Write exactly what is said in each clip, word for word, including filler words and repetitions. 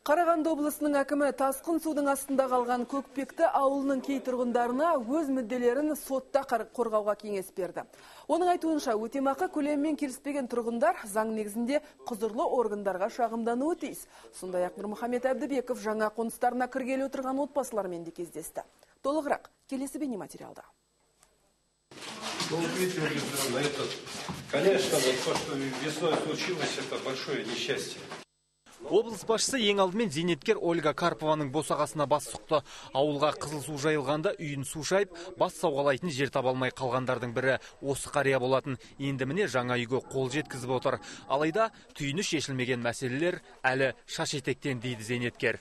Қарағанды облысының әкімі тасқын судың астында қалған Көкпекті ауылының кей тұрғындарына өз мүдделерін сотта қорғауға кеңес берді. Оның айтуынша, өтемақы көлемімен келіспеген тұрғындар заң негізінде құзырлы органдарға шағымдануы тиіс. Сондай-ақ Нұрмұхамед Әбдібеков жаңа қоныстарына кіргелі отырған отбасылармен де кездесті. Толығырақ келесі бейнематериалда. Конечно, вот то, что весной случилось, это большое несчастье. Облыс басшысы ең алдымен зейнеткер Ольга Карпованың босағасына бас сұқты. Ауылға қызыл су жайылғанда үйін су шайып, бас сауғалайтын жер таба алмай қалғандардың бірі осы қария болатын. Енді міне жаңа үйге қол жеткізіп отыр. Алайда түйіні шешілмеген мәселелер әлі шаш етектен дейді зейнеткер.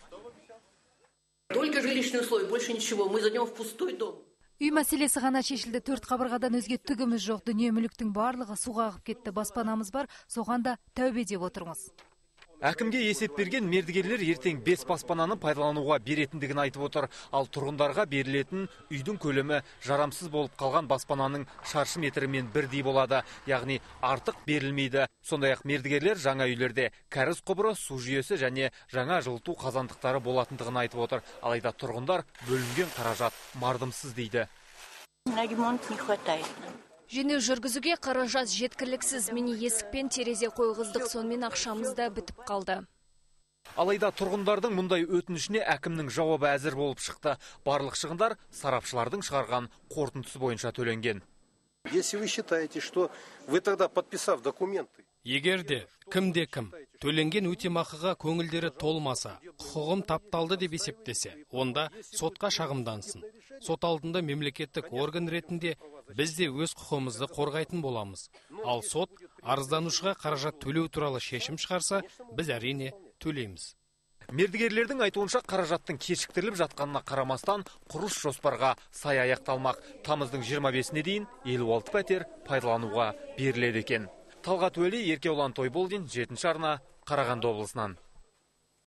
Только жилищные условия, больше ничего. Мы зайдем в пустой дом. Үй мәселесі ғана шешілді. Төрт қабырғадан өзге түгіміз жоқ. Дүние мүліктің барлығы суға ағып кетті. Баспанамыз бар, соған да тәубе деп отырмыз. Әкімге есеп берген мердігерлер ертең бес баспананы пайдалануға беретіндігін айтып отыр. Ал тұрғындарға берілетін үйдің көлемі жарамсыз болып қалған баспананың шаршы метрімен бірдей болады. Яғни артық берілмейді. Сондай-ақ мердігерлер жаңа үйлерде кәріз құбыры, су жүйесі және жаңа жылыту қазандықтары болатындығын айтып отыр. Алайда тұрғындар бөлінген қаражат мардымсыз дейді. Ремонт не хватает. Жөндеу жүргізуге қаражат жеткіліксіз. Мені есікпен терезе қойғыздық, сонымен ақшамыз да бітіп қалды. Алайда тұрғындардың мұндай өтінішіне әкімнің жауабы әзір болып шықты. Барлық шығындар сарапшылардың шығарған қорытындысы бойынша төленген. Если вы считаете, что вы тогда, подписав документы, егерде кімде-кім төленген өтемақыға көңілдері толмаса, құқығым тапталды деп есептесе, онда сотқа шағымдансын. Сот алдында мемлекеттік орган ретінде біз де өз құқығымызды қорғайтын боламыз. Ал сот арызданушыға қаражат төлеу туралы шешім шығарса, біз әрине төлейміз. Мердігерлердің айтуынша қаражаттың кешіктіріліп жатқанына қарамастан құрылыс жоспарға сай аяқталмақ. Тамыздың жиырма бесіне дейін елу алты пәтер пайдалануға беріледі екен. Талғат Уәли, Еркеұлан Тойболдин, жетінші арна, Қарағанды облысынан.